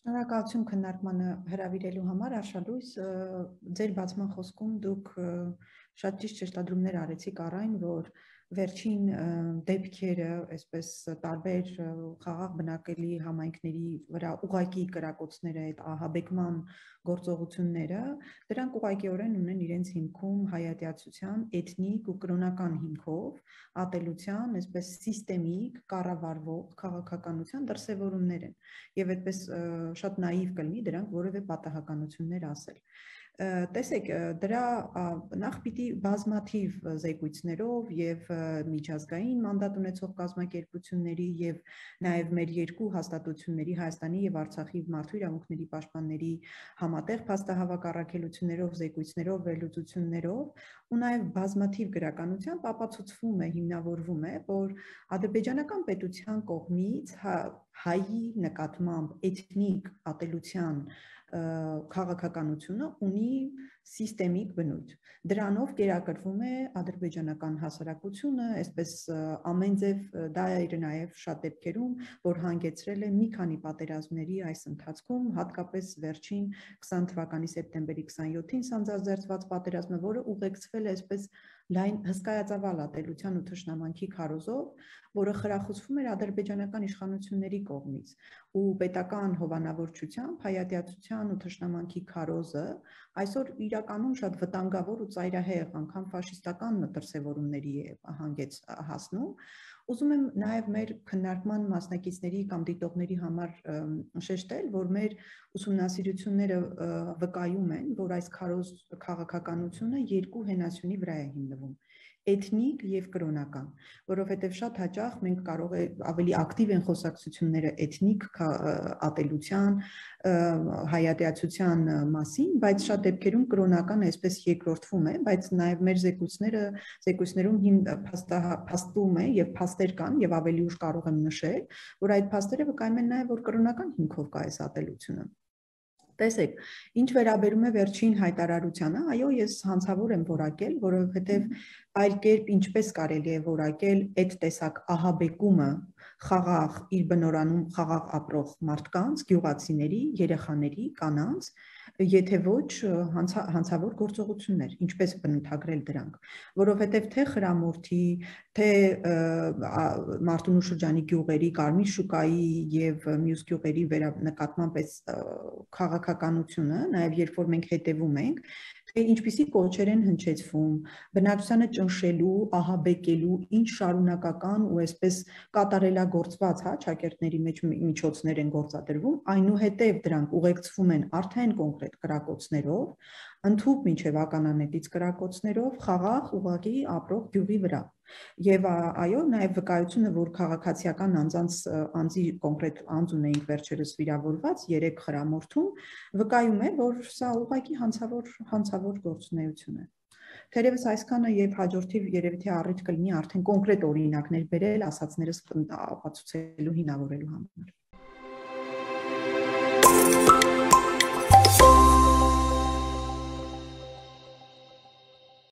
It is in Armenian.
Շնորհակալություն քննարկմանը հրավիրելու համար, Արշալույս, ձեր բացման խոսքում դուք շատ ճիշտ շեշտադրումներ արեցիք առ այն, որ վերջին դեպքերը, այսպես տարբեր խաղաղ բնակելի համայնքների վրա ուղղակի կրակոցները, այդ ահաբեկման գործողությունները, դրանք ուղղակիորեն ունեն իրենց հիմքում հայատյացության, էթնիկ ու կրոնական հիմքով, ատելության, այսպես սիստեմիկ, կառավարվող քաղաքականության դրսևորումներ են, եւ այդպես շատ նաիվ կլինի դրանք որևէ պատահականություններ ասել։ Տեսեք, դրա նախ պիտի բազմաթիվ զեկույցներով եւ միջազգային մանդատ ունեցող կազմակերպությունների եւ նաեւ մեր երկու հաստատությունների Հայաստանի եւ Արցախի մարդու իրավունքների պաշտպանների համատեղ փաստահավաք առաքելություններով, զեկույցներով, վերլուծություններով ու նաեւ բազմաթիվ գրականությամբ ապացուցվում է, հիմնավորվում է, որ ադրբեջանական պետության կողմից հայի նկատմամբ էթնիկ ատելության քաղաքականությունը ունի սիստեմիկ բնույթ։ Դրանով կերակրվում է ադրբեջանական հասարակությունը, այսպես ամեն ձև դա էր նաև շատ դեպքերում, որ հանգեցրել է մի քանի պատերազմների այս ընթացքում, հատկապես վերջին 20 թվականի սեպտեմբերի 27-ին սանձազերծված պատերազմը, որը ուղեկցվել է այսպես լայն հսկայածավալ ատելության ու թշնամանքի քարոզով, որը խրախուսվում էր ադրբեջանական իշխանությունների կողմից ու պետական հովանավորչությամբ հայատյացության ու թշնամանքի քարոզը այսօր իրականում շատ վտանգավոր ու ծայրահեղ անգամ ֆաշիստական դրսևորումների է հասնում։ Ուզում եմ նաև մեր քննարկման մասնակիցների կամ դիտողների համար շեշտել, որ մեր ուսումնասիրությունները վկայում են, որ այս քարոզ քաղաքականությունը երկու հենասյունի վրա է հիմնվում՝ էթնիկ եւ կրոնական, որովհետեւ շատ հաճախ մենք կարող է ավելի ակտիվ են խոսակցությունները էթնիկ ատելության, հայատյացության մասին, բայց շատ դեպքերում կրոնական այսպես երկրորդվում է, բայց նաեւ մեր զեկույցներում փաստում է եւ փաստեր կան եւ ավելի ուշ կարող եմ նշել, որ այդ փաստերը վկայում են նաեւ, որ կրոնական հիմքով կա այս ատելությունը։ Տեսեք, ինչ վերաբերում է վերջին հայտարարությանը, այո, ես հանցավոր եմ որակել, որովհետև այլ կերպ ինչպես կարելի է որակել այդ տեսակ ահաբեկումը խաղաղ իր բնորանում խաղաղ ապրող մարդկանց, գյուղացիների, երեխաների, կանանց, եթե ոչ հանցավոր գործողություններ, ինչպես բնութագրել դրանք, որովհետև թե խրամորթի, թե Մարտունու շրջանի գյուղերի, Կարմիր շուկայի եւ մյուս գյուղերի նկատմամբ այս քաղաքականությունը, նաև երբ որ մենք հետևում ենք, թե ինչպիսի կոչեր են հնչեցվում, բնակչությանը ճնշելու, ահաբեկելու, ինչ շարունակական ու այսպես կատարելագործված, ճակերտների մեջ միջոցներ են գործադրվում, այնուհետև դրանք ուղեկցվում են արդեն կոնկրետ կրակոցներով, ընդհուպ մինչև ականանետից կրակոցներով, խաղաղ ուղղակի ապրող գյուղի վրա։ Եվ այո, նաև վկայությունը, որ քաղաքացիական անձի կոնկրետ անձ ունեինք վերջերս վիրավորված 3 խրամորթում, վկայում է, որ սա ուղղակի հանցավոր գործունեություն է։ Թերևս այսքանը եւ հաջորդիվ երևի թե առիթ կլինի արդեն կոնկրետ օրինակներ բերել ասածներս ապացուցելու հիմնավորելու համար։